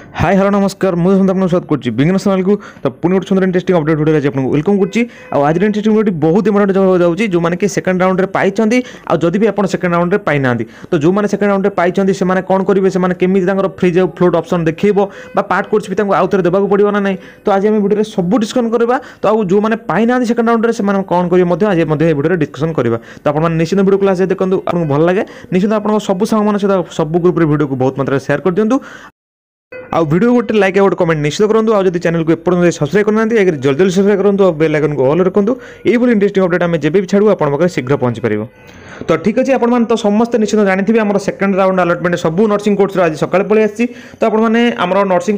High, hello, ନମସ୍କାର। ମୁଁ ଆପଣଙ୍କୁ ସ୍ୱାଗତ କରୁଛି ବିଜ୍ଞାନ ଚ୍ୟାନେଲକୁ। ତ ପୁଣି ଗୋଟେ ସୁନ୍ଦର ଇଣ୍ଟରେଷ୍ଟିଂ ଅପଡେଟ୍ ଭିଡ଼ିଓ ଆଜି ଆପଣଙ୍କୁ welcome କରୁଛି। ଆଉ ଆଜିର ଇଣ୍ଟରେଷ୍ଟିଂ ଭିଡ଼ିଓଟି ବହୁତ ଇମ୍ପୋର୍ଟାଣ୍ଟ ହେବାକୁ ଯାଉଛି, ଯେଉଁମାନେ କି ସେକେଣ୍ଡ ରାଉଣ୍ଡରେ ପାଇଛନ୍ତି ଆଉ ଯଦି ବି ଆପଣ ସେକେଣ୍ଡ ରାଉଣ୍ଡରେ ପାଇନାହାନ୍ତି। ତ ଯେଉଁମାନେ ସେକେଣ୍ଡ ରାଉଣ୍ଡରେ ପାଇଛନ୍ତି, ସେମାନେ କ'ଣ କରିବେ, ସେମାନେ କେମିତି ତାଙ୍କର ଫ୍ରିଜ୍ ଆଉ ଫ୍ଲୋଟ୍ ଅପସନ୍ ଦେଖେଇବ ବା ପାର୍ଟ କୋର୍ସ ବି ତାଙ୍କୁ ଆଉ ଥରେ ଦେବାକୁ ପଡ଼ିବ ନା ନାହିଁ, ତ ଆଜି ଆମେ ଭିଡ଼ିଓରେ ସବୁ ଡିସ୍କସନ୍ କରିବା। ତ ଆଉ ଯେଉଁମାନେ ପାଇନାହାନ୍ତି ସେକେଣ୍ଡ ରାଉଣ୍ଡରେ, ସେମାନେ କ'ଣ କରିବେ ମଧ୍ୟ ଆଜି ମଧ୍ୟ ଏ ଭିଡ଼ିଓରେ ଡିସ୍କସନ୍ କରିବା। ତ ଆପଣମାନେ ନିଶ୍ଚିତ ଭିଡ଼ିଓ କ୍ଲାସ୍ ଦେଖନ୍ତୁ। ଆପଣଙ୍କୁ ଭଲ ଲାଗେ, ନିଶ୍ଚିତ ଆପଣଙ୍କ ସବୁ ସାଙ୍ଗମାନଙ୍କ ସହିତ ସବୁ ଗ୍ରୁପ୍ରେ ଭିଡ଼ିଓକୁ ବହୁତ ମାତ୍ରାରେ ସେୟାର କରିଦିଅନ୍ତୁ। ଆଉ ଭିଡ଼ିଓ ଗୋଟେ ଲାଇକ୍ ଆଉ ଗୋଟେ କମେଣ୍ଟ ନିଶ୍ଚିତ କରନ୍ତୁ। ଆଉ ଯଦି ଚ୍ୟାନେଲକୁ ଏପର୍ଯ୍ୟନ୍ତ ସବସ୍କ୍ରାଇବ୍ କରିନାହାନ୍ତି, ଆଗରେ ଜଲ୍ଦି ଜଲ୍ଦି ସବସ୍କ୍ରାଇବ୍ କରନ୍ତୁ ଆଉ ବେଲ୍ ଆଇକନ୍କୁ ଅଲ୍ ରଖନ୍ତୁ। ଏଇଭଳି ଇଣ୍ଟରେଷ୍ଟିଂ ଅପଡେଟ୍ ଆମେ ଯେବେ ବି ଛାଡ଼ୁ, ଆପଣଙ୍କ ପାଖରେ ଶୀଘ୍ର ପହଞ୍ଚି ପାରିବ। ତ ଠିକ୍ ଅଛି, ଆପଣମାନେ ତ ସମସ୍ତେ ନିଶ୍ଚିତ ଜାଣିଥିବେ, ଆମର ସେକେଣ୍ଡ ରାଉଣ୍ଡ ଆଲଟମେଣ୍ଟ ସବୁ ନର୍ସିଂ କୋର୍ସର ଆଜି ସକାଳେ ପଳେଇ ଆସିଛି। ତ ଆପଣମାନେ ଆମର ନର୍ସିଂ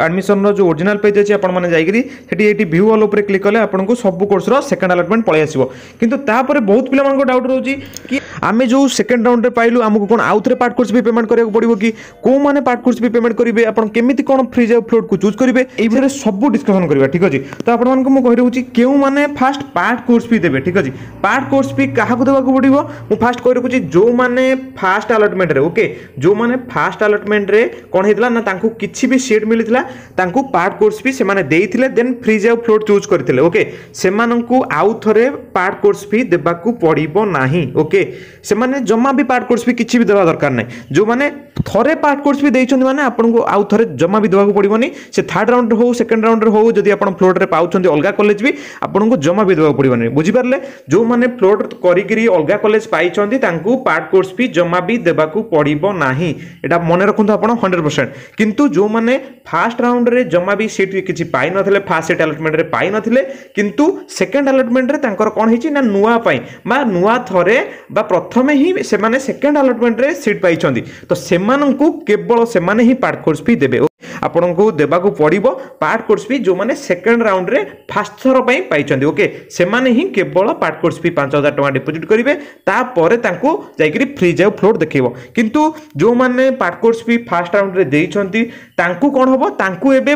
ଆଡ଼ମିସନର ଯେଉଁ ଓରିଜିନାଲ ପେଜ୍ ଅଛି, ଆପଣମାନେ ଯାଇକରି ସେଠି ଏଇଠି ଭ୍ୟୁ ଅଲ୍ ଉପରେ କ୍ଲିକ୍ କଲେ ଆପଣଙ୍କୁ ସବୁ କୋର୍ସର ସେକେଣ୍ଡ ଆଲଟମେଣ୍ଟ ପଳେଇ ଆସିବ। କିନ୍ତୁ ତାପରେ ବହୁତ ପିଲାମାନଙ୍କ ଡାଉଟ୍ ରହୁଛି କି ଆମେ ଯେଉଁ ସେକେଣ୍ଡ ରାଉଣ୍ଡରେ ପାଇଲୁ, ଆମକୁ କ'ଣ ଆଉ ଥରେ ପାର୍ଟ କୋର୍ସ ବି ପେମେଣ୍ଟ କରିବାକୁ ପଡ଼ିବ କି? କେଉଁମାନେ ପାର୍ଟ କୋର୍ସ ବି ପେମେଣ୍ଟ କରିବେ, ଆପଣ କେମିତି କ'ଣ ଫ୍ରିଜ୍ ଆଉ ଫ୍ଲୋଟ୍କୁ ଚୁଜ୍ କରିବେ, ଏଇ ଭିତରେ ସବୁ ଡିସ୍କସନ୍ କରିବା। ଠିକ୍ ଅଛି, ତ ଆପଣମାନଙ୍କୁ ମୁଁ କହି ରଖୁଛି କେଉଁମାନେ ଫାଷ୍ଟ ପାର୍ଟ କୋର୍ସ ଫି ଦେବେ। ଠିକ୍ ଅଛି, ପାର୍ଟ କୋର୍ସ ଫି କାହାକୁ ଦେବାକୁ ପଡ଼ିବ, ମୁଁ ଫାଷ୍ଟ କହି ରଖୁଛି, ଯେଉଁମାନେ ଫାଷ୍ଟ ଆଲଟମେଣ୍ଟରେ, ଓକେ, ଯେଉଁମାନେ ଫାଷ୍ଟ ଆଲଟମେଣ୍ଟରେ କ'ଣ ହେଇଥିଲା ନା ତାଙ୍କୁ କିଛି ବି ସିଟ୍ ମିଳିଥିଲା, ତାଙ୍କୁ ପାର୍ଟ କୋର୍ସ ଫି ସେମାନେ ଦେଇଥିଲେ, ଦେନ୍ ଫ୍ରିଜ୍ ଆଉ ଫ୍ଲୋଟ୍ ଚୁଜ୍ କରିଥିଲେ, ଓକେ, ସେମାନଙ୍କୁ ଆଉ ଥରେ ପାର୍ଟ କୋର୍ସ ଫି ଦେବାକୁ ପଡ଼ିବ ନାହିଁ। ଓକେ, ସେମାନେ ଜମା ବି ପାର୍ଟ କୋର୍ସ ଫି କିଛି ବି ଦେବା ଦରକାର ନାହିଁ। ଯେଉଁମାନେ ଥରେ ପାର୍ଟ କୋର୍ସ ଫି ଦେଇଛନ୍ତି, ମାନେ ଆପଣଙ୍କୁ ଆଉ ଥରେ ଜମା ବି ଦେବାକୁ ପଡ଼ିବନି। ସେ ଥାର୍ଡ଼ ରାଉଣ୍ଡରେ ହଉ, ସେକେଣ୍ଡ ରାଉଣ୍ଡରେ ହଉ, ଯଦି ଆପଣ ଫ୍ଲୋଟ୍ରେ ପାଉଛନ୍ତି ଅଲଗା କଲେଜ ବି, ଆପଣଙ୍କୁ ଜମା ବି ଦେବାକୁ ପଡ଼ିବନି। ବୁଝିପାରିଲେ? ଯେଉଁମାନେ ଫ୍ଲୋଟ୍ କରିକିରି ଅଲଗା କଲେଜ ପାଇଛନ୍ତି, ତାଙ୍କୁ ପାର୍ଟ କୋର୍ସ ଫି ଜମା ବି ଦେବାକୁ ପଡ଼ିବ ନାହିଁ। ଏଇଟା ମନେ ରଖନ୍ତୁ ଆପଣ 100%। କିନ୍ତୁ ଯେଉଁମାନେ ଫାଷ୍ଟ ରାଉଣ୍ଡରେ ଜମା ବି ସିଟ୍ କିଛି ପାଇନଥିଲେ, ଫାଷ୍ଟ ସିଟ୍ ଆଲଟମେଣ୍ଟରେ ପାଇନଥିଲେ, କିନ୍ତୁ ସେକେଣ୍ଡ ଆଲଟମେଣ୍ଟରେ ତାଙ୍କର କ'ଣ ହେଇଛି ନା ନୂଆ ପାଇଁ ବା ନୂଆ ଥରେ ବା ପ୍ରଥମେ ହିଁ ସେମାନେ ସେକେଣ୍ଡ ଆଲଟମେଣ୍ଟରେ ସିଟ୍ ପାଇଛନ୍ତି, ତ ସେମାନଙ୍କୁ କେବଳ ସେମାନେ ହିଁ ପାର୍ଟ କୋର୍ସ ଫି ଦେବେ। ଆପଣଙ୍କୁ ଦେବାକୁ ପଡ଼ିବ ପାର୍ଟ କୋର୍ସ ଫି ଯେଉଁମାନେ ସେକେଣ୍ଡ ରାଉଣ୍ଡରେ ଫାଷ୍ଟ ଥର ପାଇଁ ପାଇଛନ୍ତି। ଓକେ, ସେମାନେ ହିଁ କେବଳ ପାର୍ଟ କୋର୍ସ ଫି 5000 ଟଙ୍କା ଡିପୋଜିଟ୍ କରିବେ, ତାପରେ ତାଙ୍କୁ ଯାଇକରି ଫ୍ରିଜ୍ ଆଉ ଫ୍ଲୋଟ୍ ଦେଖେଇବ। କିନ୍ତୁ ଯେଉଁମାନେ ପାର୍ଟ କୋର୍ସ ଫି ଫାଷ୍ଟ ରାଉଣ୍ଡରେ ଦେଇଛନ୍ତି, ତାଙ୍କୁ କ'ଣ ହେବ? ତାଙ୍କୁ ଏବେ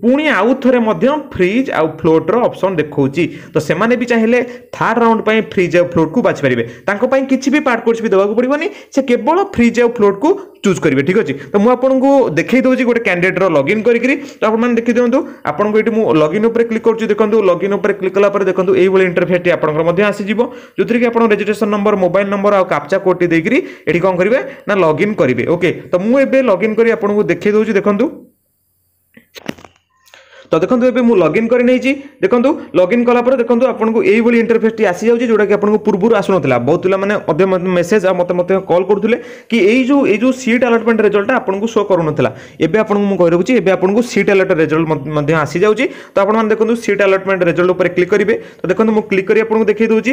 ପୁଣି ଆଉ ଥରେ ମଧ୍ୟ ଫ୍ରିଜ୍ ଆଉ ଫ୍ଲୋଟ୍ର ଅପସନ୍ ଦେଖାଉଛି। ତ ସେମାନେ ବି ଚାହିଁଲେ ଥାର୍ଡ଼ ରାଉଣ୍ଡ ପାଇଁ ଫ୍ରିଜ୍ ଆଉ ଫ୍ଲୋଟ୍କୁ ବାଛିପାରିବେ। ତାଙ୍କ ପାଇଁ କିଛି ବି ପାର୍ଟ କୋର୍ସ ଫି ଦେବାକୁ ପଡ଼ିବନି, ସେ କେବଳ ଫ୍ରିଜ୍ ଆଉ ଫ୍ଲୋଟ୍କୁ ଚୁଜ୍ କରିବେ। ଠିକ୍ ଅଛି, ତ ମୁଁ ଆପଣଙ୍କୁ ଦେଖେଇ ଦେଉଛି ଗୋଟେ କ୍ୟାଣ୍ଡିଡେଟ୍ର ଲଗ୍ଇନ୍ କରିକିରି। ତ ଆପଣମାନେ ଦେଖିଦିଅନ୍ତୁ, ଆପଣଙ୍କୁ ଏଇଠି ମୁଁ ଲଗ୍ଇନ୍ ଉପରେ କ୍ଲିକ୍ କରୁଛି। ଦେଖନ୍ତୁ, ଲଗ୍ଇନ୍ ଉପରେ କ୍ଲିକ୍ କଲା ପରେ ଦେଖନ୍ତୁ ଏଇଭଳି ଇଣ୍ଟରଫେସ୍ଟି ଆପଣଙ୍କର ମଧ୍ୟ ଆସିଯିବ, ଯେଉଁଥିରେ କି ଆପଣ ରେଜିଷ୍ଟ୍ରେସନ ନମ୍ବର, ମୋବାଇଲ ନମ୍ବର ଆଉ କାପଚା କୋଡ଼୍ଟି ଦେଇକରି ଏଠି କ'ଣ କରିବେ ନା ଲଗ୍ଇନ୍ କରିବେ। ଓକେ, ତ ମୁଁ ଏବେ ଲଗ୍ଇନ୍ କରି ଆପଣଙ୍କୁ ଦେଖେଇ ଦେଉଛି। ଦେଖନ୍ତୁ, ତ ଦେଖନ୍ତୁ, ଏବେ ମୁଁ ଲଗ୍ଇନ୍ କରି ନେଇଛି। ଦେଖନ୍ତୁ, ଲଗ୍ଇନ୍ କଲା ପରେ ଦେଖନ୍ତୁ ଆପଣଙ୍କୁ ଏଇଭଳି ଇଣ୍ଟରଫେସ୍ଟି ଆସିଯାଉଛି, ଯେଉଁଟାକି ଆପଣଙ୍କୁ ପୂର୍ବରୁ ଆସୁନଥିଲା। ବହୁତ ପିଲାମାନେ ମଧ୍ୟ ମେସେଜ୍ ଆଉ ମୋତେ ମଧ୍ୟ କଲ୍ କରୁଥିଲେ କି ଏଇ ଯେଉଁ ସିଟ୍ ଆଲଟମେଣ୍ଟ ରେଜଲ୍ଟଟା ଆପଣଙ୍କୁ ଶୋ କରୁନଥିଲା। ଏବେ ଆପଣଙ୍କୁ ମୁଁ କହି ରଖୁଛି, ଏବେ ଆପଣଙ୍କୁ ସିଟ୍ ଆଲଟ ରେଜଲ୍ଟ ମଧ୍ୟ ଆସିଯାଉଛି। ତ ଆପଣମାନେ ଦେଖନ୍ତୁ, ସିଟ୍ ଆଲଟମେଣ୍ଟ ରେଜଲ୍ଟ ଉପରେ କ୍ଲିକ୍ କରିବେ। ତ ଦେଖନ୍ତୁ, ମୁଁ କ୍ଲିକ୍ କରି ଆପଣଙ୍କୁ ଦେଖେଇ ଦେଉଛି।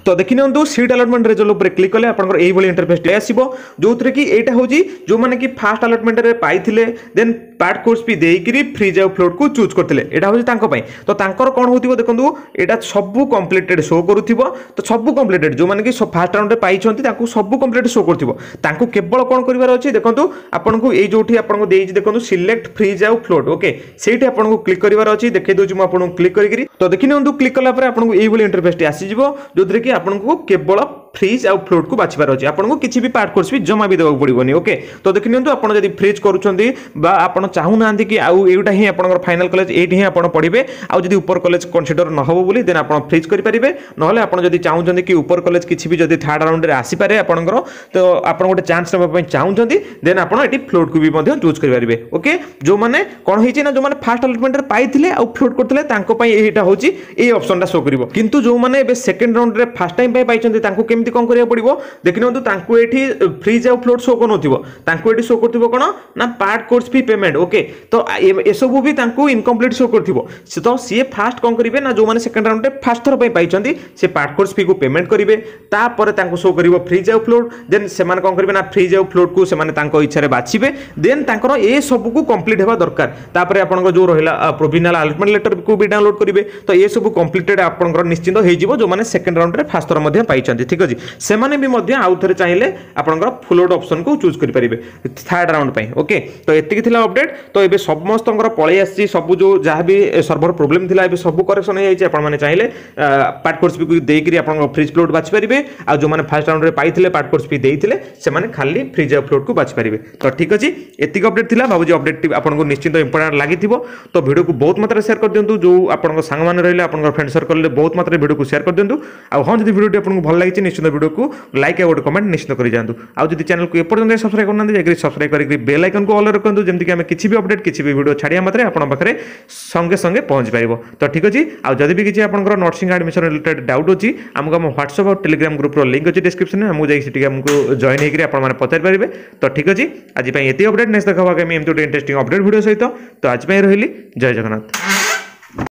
ତ ଦେଖିନିଅନ୍ତୁ, ସିଟ୍ ଆଲଟମେଣ୍ଟ ରେଜଲ୍ଟ ଉପରେ କ୍ଲିକ୍ କଲେ ଆପଣଙ୍କର ଏଇଭଳି ଇଣ୍ଟରଫେସ୍ଟି ଆସିବ, ଯେଉଁଥିରେ କି ଏଇଟା ହେଉଛି ଯେଉଁମାନେ କି ଫାଷ୍ଟ ଆଲଟମେଣ୍ଟରେ ପାଇଥିଲେ, ଦେନ୍ ପାର୍ଟ କୋର୍ସ ଫି ଦେଇକିରି ଫ୍ରିଜ୍ ଆଉ ଫ୍ଲୋଟ୍କୁ ଚୁଜ୍ କରିଥିଲେ, ଏଇଟା ହେଉଛି ତାଙ୍କ ପାଇଁ। ତ ତାଙ୍କର କ'ଣ ହେଉଥିବ? ଦେଖନ୍ତୁ, ଏଇଟା ସବୁ କମ୍ପ୍ଲିଟେଡ୍ ଶୋ କରୁଥିବ। ତ ସବୁ କମ୍ପ୍ଲିଟେଡ୍, ଯେଉଁମାନେ କି ଫାଷ୍ଟ ରାଉଣ୍ଡରେ ପାଇଛନ୍ତି, ତାଙ୍କୁ ସବୁ କମ୍ପ୍ଲିଟ୍ ଶୋ କରୁଥିବ। ତାଙ୍କୁ କେବଳ କ'ଣ କରିବାର ଅଛି? ଦେଖନ୍ତୁ, ଆପଣଙ୍କୁ ଏଇ ଯେଉଁଠି ଆପଣଙ୍କୁ ଦେଇଛି, ଦେଖନ୍ତୁ, ସିଲେକ୍ଟ ଫ୍ରିଜ୍ ଆଉ ଫ୍ଲୋଟ୍, ଓକେ, ସେଇଠି ଆପଣଙ୍କୁ କ୍ଲିକ୍ କରିବାର ଅଛି। ଦେଖେଇ ଦେଉଛି ମୁଁ ଆପଣଙ୍କୁ କ୍ଲିକ୍ କରିକିରି। ତ ଦେଖିନିଅନ୍ତୁ, କ୍ଲିକ୍ କଲା ପରେ ଆପଣଙ୍କୁ ଏଇଭଳି ଇଣ୍ଟରଫେସ୍ଟି ଆସିଯିବ, ଯେଉଁଥିରେ କି ଆପଣଙ୍କୁ କେବଳ ଫ୍ରିଜ୍ ଆଉ ଫ୍ଲୋଟ୍କୁ ବାଛିବାର ଅଛି। ଆପଣଙ୍କୁ କିଛି ବି ପାର୍ଟ କୋର୍ସ ବି ଜମା ବି ଦେବାକୁ ପଡ଼ିବନି। ଓକେ, ତ ଦେଖିନିଅନ୍ତୁ, ଆପଣ ଯଦି ଫ୍ରିଜ୍ କରୁଛନ୍ତି ବା ଆପଣ ଚାହୁଁନାହାନ୍ତି କି ଆଉ ଏଇଟା ହିଁ ଆପଣଙ୍କର ଫାଇନାଲ କଲେଜ, ଏଇଠି ହିଁ ଆପଣ ପଢ଼ିବେ, ଆଉ ଯଦି ଉପର କଲେଜ କନସିଡର ନ ହେବ ବୋଲି, ଦେନ୍ ଆପଣ ଫ୍ରିଜ୍ କରିପାରିବେ। ନହେଲେ ଆପଣ ଯଦି ଚାହୁଁଛନ୍ତି କି ଉପର କଲେଜ କିଛି ବି ଯଦି ଥାର୍ଡ଼ ରାଉଣ୍ଡରେ ଆସିପାରେ ଆପଣଙ୍କର, ତ ଆପଣ ଗୋଟେ ଚାନ୍ସ ନେବା ପାଇଁ ଚାହୁଁଛନ୍ତି, ଦେନ୍ ଆପଣ ଏଠି ଫ୍ଲୋଟ୍କୁ ବି ମଧ୍ୟ ଚୁଜ୍ କରିପାରିବେ। ଓକେ, ଯେଉଁମାନେ କ'ଣ ହେଇଛି ନା ଯେଉଁମାନେ ଫାଷ୍ଟ ଆଲଟମେଣ୍ଟରେ ପାଇଥିଲେ ଆଉ ଫ୍ଲୋଟ୍ କରିଥିଲେ, ତାଙ୍କ ପାଇଁ ଏଇଟା ହେଉଛି ଏଇ ଅପସନ୍ଟା ଶୋ କରିବ। କିନ୍ତୁ ଯେଉଁମାନେ ଏବେ ସେକେଣ୍ଡ ରାଉଣ୍ଡରେ ଫାଷ୍ଟ ଟାଇମ୍ ପାଇଁ ପାଇଛନ୍ତି, ତାଙ୍କୁ କେମିତି କ'ଣ କରିବାକୁ ପଡ଼ିବ? ଦେଖିନିଅନ୍ତୁ, ତାଙ୍କୁ ଏଠି ଫ୍ରିଜ୍ ଆଉ ଫ୍ଲୋଟ୍ ଶୋ କରୁନଥିବ। ତାଙ୍କୁ ଏଠି ଶୋ କରୁଥିବ କ'ଣ ନା part course fee payment. Okay, ତ ଏସବୁ ବି ତାଙ୍କୁ ଇନକମ୍ପ୍ଲିଟ୍ ଶୋ କରୁଥିବ। ତ ସିଏ ଫାଷ୍ଟ କ'ଣ କରିବେ ନା ଯେଉଁମାନେ ସେକେଣ୍ଡ ରାଉଣ୍ଡରେ ଫାଷ୍ଟ ଥର ପାଇଁ ପାଇଛନ୍ତି, ସେ ପାର୍ଟ କୋର୍ସ ଫିକୁ ପେମେଣ୍ଟ କରିବେ। ତାପରେ ତାଙ୍କୁ ଶୋ କରିବ ଫ୍ରିଜ୍ ଆଉ ଫ୍ଲୋଟ୍। ଦେନ୍ ସେମାନେ କ'ଣ କରିବେ ନା ଫ୍ରିଜ୍ ଆଉ ଫ୍ଲୋଟ୍କୁ ସେମାନେ ତାଙ୍କ ଇଚ୍ଛାରେ ବାଛିବେ। ଦେନ୍ ତାଙ୍କର ଏ ସବୁକୁ କମ୍ପ୍ଲିଟ୍ ହେବା ଦରକାର। ତାପରେ ଆପଣଙ୍କ ଯେଉଁ ରହିଲା ପ୍ରୋଭିନାଲ ଆଲଟମେଣ୍ଟ ଲେଟରକୁ ବି ଡାଉନଲୋଡ୍ କରିବେ। ତ ଏସବୁ କମ୍ପ୍ଲିଟେଡ୍ ଆପଣଙ୍କର ନିଶ୍ଚିନ୍ତ ହେଇଯିବ, ଯେଉଁମାନେ ସେକେଣ୍ଡ ରାଉଣ୍ଡରେ ଫାଷ୍ଟ ଥର ମଧ୍ୟ ପାଇଛନ୍ତି। ଠିକ୍ ଅଛି। ଅଛି, ସେମାନେ ବି ମଧ୍ୟ ଆଉ ଥରେ ଚାହିଁଲେ ଆପଣଙ୍କର ଫ୍ଲୋଟ୍ ଅପସନ୍କୁ ଚୁଜ୍ କରିପାରିବେ ଥାର୍ଡ଼ ରାଉଣ୍ଡ ପାଇଁ। ଓକେ, ତ ଏତିକି ଥିଲା ଅପଡେଟ୍। ତ ଏବେ ସମସ୍ତଙ୍କର ପଳେଇ ଆସିଛି ସବୁ, ଯେଉଁ ଯାହା ବି ସର୍ଭର ପ୍ରୋବ୍ଲେମ୍ ଥିଲା ଏବେ ସବୁ କରେକ୍ସନ୍ ହେଇଯାଇଛି। ଆପଣମାନେ ଚାହିଁଲେ ପାର୍ଟ କୋର୍ସ ଫିକୁ ଦେଇକରି ଆପଣଙ୍କ ଫ୍ରିଜ୍ ଫ୍ଲୋଟ୍ ବାଛିପାରିବେ, ଆଉ ଯେଉଁମାନେ ଫାର୍ଷ୍ଟ ରାଉଣ୍ଡରେ ପାଇଥିଲେ, ପାର୍ଟ କୋର୍ସ ଫି ଦେଇଥିଲେ, ସେମାନେ ଖାଲି ଫ୍ରିଜ୍ ଆଉ ଫ୍ଲୋଟ୍କୁ ବାଛିପାରିବେ। ତ ଠିକ୍ ଅଛି, ଏତିକି ଅପଡେଟ୍ ଥିଲା। ଭାବୁଛି ଅପଡେଟ୍ଟି ଆପଣଙ୍କୁ ନିଶ୍ଚିନ୍ତ ଇମ୍ପୋର୍ଟାଣ୍ଟ ଲାଗିଥିବ। ତ ଭିଡ଼ିଓକୁ ବହୁତ ମାତ୍ରାରେ ସେୟାର କରିଦିଅନ୍ତୁ, ଯେଉଁ ଆପଣଙ୍କ ସାଙ୍ଗମାନେ ରହିଲେ, ଆପଣଙ୍କ ଫ୍ରେଣ୍ଡ ସର୍କଲରେ ବହୁତ ମାତ୍ରାରେ ଭିଡ଼ିଓକୁ ସେୟାର କରିଦିଅନ୍ତୁ। ଆଉ ହଁ, ଯଦି ଭିଡ଼ିଓଟି ଆପଣଙ୍କୁ ଭଲ ଲାଗିଛି, ନିଶ୍ଚିନ୍ତ ଭିଡ଼ିଓକୁ ଲାଇକ୍ ଆଉ ଗୋଟେ କମେଣ୍ଟ ନିଶ୍ଚିତ କରିଯାଆନ୍ତୁ। ଆଉ ଯଦି ଚ୍ୟାନେଲକୁ ଏପର୍ଯ୍ୟନ୍ତ ସବସ୍କ୍ରାଇବ୍ କରିନାହାନ୍ତି, ଯାଇକରି ସବସ୍କ୍ରାଇବ୍ କରିକି ବେଲ୍ ଆଇକନ୍କୁ ଅଲ୍ ରଖନ୍ତୁ, ଯେମିତିକି ଆମେ କିଛି ବି ଅପଡେଟ୍, କିଛି ବି ଭିଡ଼ିଓ ଛାଡ଼ିବା ମାତ୍ରେ ଆପଣଙ୍କ ପାଖରେ ସଙ୍ଗେ ସଙ୍ଗେ ପହଞ୍ଚି ପାରିବ। ତ ଠିକ୍ ଅଛି, ଆଉ ଯଦି ବି କିଛି ଆପଣଙ୍କର ନର୍ସିଂ ଆଡ଼ମିସନ୍ ରିଲେଟେଡ୍ ଡାଉଟ୍ ଅଛି, ଆମକୁ ଆମ ହ୍ୱାଟ୍ସଆପ୍ ଆଉ ଟେଲିଗ୍ରାମ ଗ୍ରୁପ୍ର ଲିଙ୍କ୍ ଅଛି ଡିସ୍କ୍ରିପ୍ସନରେ, ଆମକୁ ଯାଇକି ସେଠିକି ଆମକୁ ଜଏନ୍ ହେଇକରି ଆପଣମାନେ ପଚାରିପାରିବେ। ତ ଠିକ୍ ଅଛି, ଆଜି ପାଇଁ ଏତିକି ଅପଡେଟ୍। ନେକ୍ସଟ ଦେଖା ଆମେ ଏମିତି ଗୋଟେ ଇଣ୍ଟରେଷ୍ଟିଂ ଅପଡେଟ୍ ଭିଡ଼ିଓ ସହିତ। ତ ଆଜି ପାଇଁ ରହିଲି, ଜୟ ଜଗନ୍ନାଥ।